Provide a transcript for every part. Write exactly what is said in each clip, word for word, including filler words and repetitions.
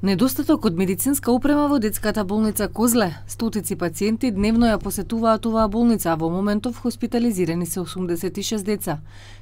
Недостаток од медицинска опрема во детската болница Козле. Стотици пациенти дневно ја посетуваат оваа болница, а во моментов хоспитализирани се осумдесет и шест деца.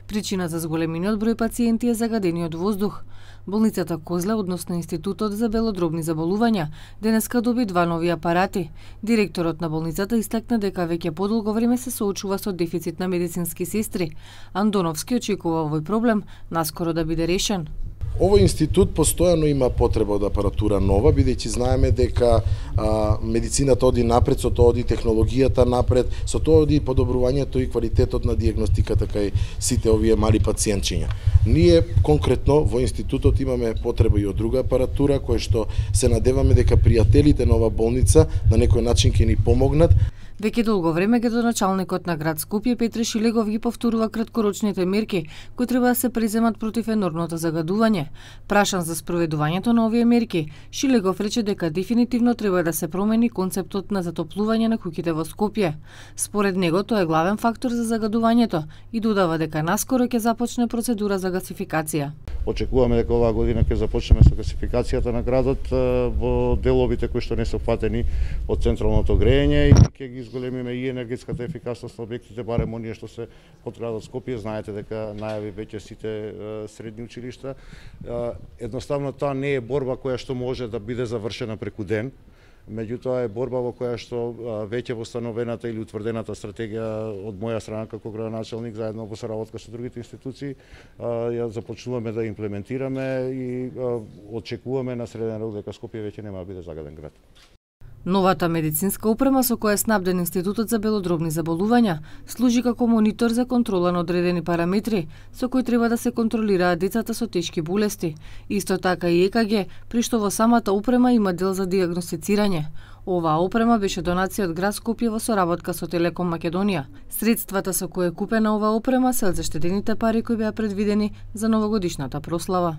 Причина за зголемениот број пациенти е загадениот воздух. Болницата Козле, односно Институтот за белодробни заболувања, денеска доби два нови апарати. Директорот на болницата истакна дека веќе подолго време се соочува со дефицит на медицински сестри. Андоновски очекува овој проблем наскоро да биде решен. Овој институт постојано има потреба од апаратура нова, бидејќи знаеме дека а, медицината оди напред, со тоа оди технологијата напред, со тоа оди подобрувањето и квалитетот на дијагностиката кај сите овие мали пациентчиња. Ние конкретно во институтот имаме потреба и од друга апаратура, која што се надеваме дека пријателите на оваа болница на некој начин ќе ни помогнат. Веќе долго време градоначалникот на град Скопје Петре Шилегов ги повторува краткорочните мерки кои треба да се преземат против енормното загадување. Прашан за спроведувањето на овие мерки, Шилегов рече дека дефинитивно треба да се промени концептот на затоплување на куќите во Скопје. Според него тоа е главен фактор за загадувањето и додава дека наскоро ќе започне процедура за гасификација. Очекуваме дека оваа година ќе започнеме со гасификацијата на градот во деловите кои што не се опфатени од централното грејење и ќе ги изголемиме и енергетската ефикасност на објектите, барем оние што се под градот Скопје. Знаете дека најави веќе сите средни училишта. Едноставно тоа не е борба која што може да биде завршена преку ден, меѓутоа е борба во која што веќе восстановената или утврдената стратегија од моја страна како градоначалник заедно во соработка со другите институции ја започнуваме да имплементираме и очекуваме на среден рок дека Скопје веќе нема да биде загаден град. Новата медицинска опрема со која е снабден Институтот за белодробни заболувања служи како монитор за контрола на одредени параметри со кои треба да се контролираат децата со тешки болести. Исто така и Е К Г, при што во самата опрема има дел за дијагностицирање. Оваа опрема беше донација од град Скопје во соработка со Телеком Македонија. Средствата со кои е купена оваа опрема се од заштедените пари кои беа предвидени за новогодишната прослава.